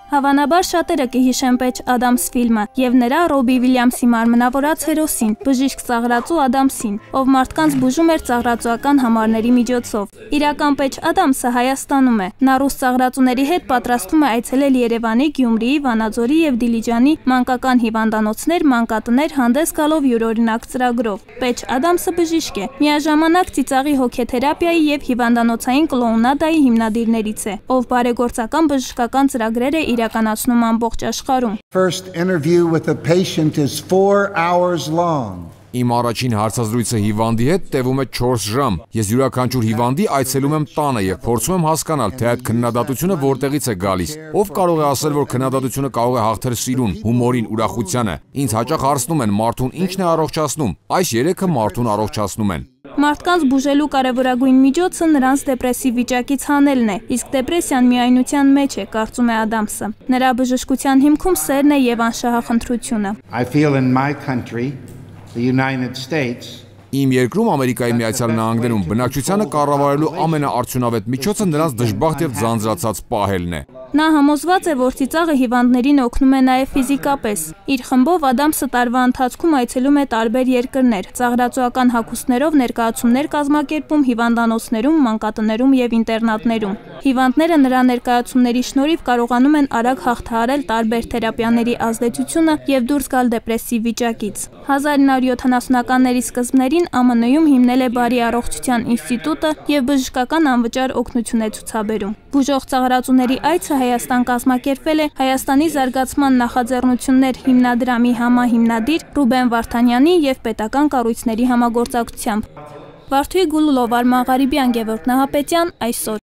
Հավանաբար շատերը կհիշեն Պեչ Ադամս ֆիլմը եւ նրա Ռոբի Վիլյամսի մարմնավորած հերոսին, բժիշկ ծաղրածու Ադամսին, ով մարդկանց բուժում էր ծաղրածուական համարների միջոցով։ Իրական Պեչ Ադամսը Հայաստանում է։ Նա ռուս ծաղրածուների հետ պատրաստում է այցելել Երևանի, Գյումրիի, Վանաձորի եւ Դիլիջանի մանկական հիվանդանոցներ, մանկատներ հանդես գալով յուրօրինակ ծրագրով։ Պեչ Ադամսը բժիշկ է, միաժամանակ ծիծաղի հոգեթերապիայի եւ հիվանդանոցային կլոունադայի հիմնադիրներից է, ով բարեգործական բժշկական ծրագրեր է իրականացնում ամբողջ աշխարհում։ First interview with a patient is 4 hours long. Իմ առաջին հարցազրույցը հիվանդի հետ տևում է 4 ժամ։ Ես յուրաքանչյուր հիվանդի այցելում եմ տանը եւ փորձում եմ հասկանալ, թե այդ քննադատությունը որտեղից է գալիս։ Ով կարող է ասել, որ քննադատությունը կարող է հաղթել սիրուն, հումորին, ուրախությանը։ Ինձ հաճախ հարցնում են, մարդուն ի՞նչն է առողջացնում։ Այս երեքը մարդուն առողջացնում են։ Մարդկանց բուժելու կարևորագույն միջոցը նրանց դեպրեսիվ վիճակից հանելն է, իսկ դեպրեսիան միայնության մեջ է, կարծում է Ադամսը։ Նրա բժշկության հիմքում սերն է եւ անշահախնդրությունը։ I feel in my country, the United States, Իմ երկրում Ամերիկայի Միացյալ Նահանգներում բնակչությանը կառավարելու ամենաարդյունավետ միջոցը նրանց դժբախտ եւ ձանձրացած պահելն է։ Նա համոզված է, որ ծիծաղը հիվանդներին օգնում է նաև ֆիզիկապես։ Իր խմբով Ադամսը տարվա ընթացքում այցելում է տարբեր երկրներ, ծաղրածուական հագուստներով ներկայացումներ կազմակերպում հիվանդանոցներում, մանկատներում եւ ինտերնատներում։ Հիվանդները նրա ներկայացումների շնորհիվ կարողանում են արագ հաղթահարել տարբեր թերապիաների ազդեցությունը եւ դուրս գալ դեպրեսիվ վիճակից։ 1970-ականների սկզբներին ԱՄՆ-ում հիմնել է Բարի առողջության ինստիտուտը եւ բժշկական անվճար օգնություն է ցուցաբերում։ Բուժող ծաղրածուների այցը Հայաստան կազմակերպվել է Հայաստանի զարգացման նախաձեռնություններ հիմնադրամի համահիմնադիր Ռուբեն Վարդանյանի եւ պետական կառույցների համագործակցությամբ։ Վարդուհի Գուլլով, Արման Ղարիբյան, Գևորգ Նահապետյան, այսօր։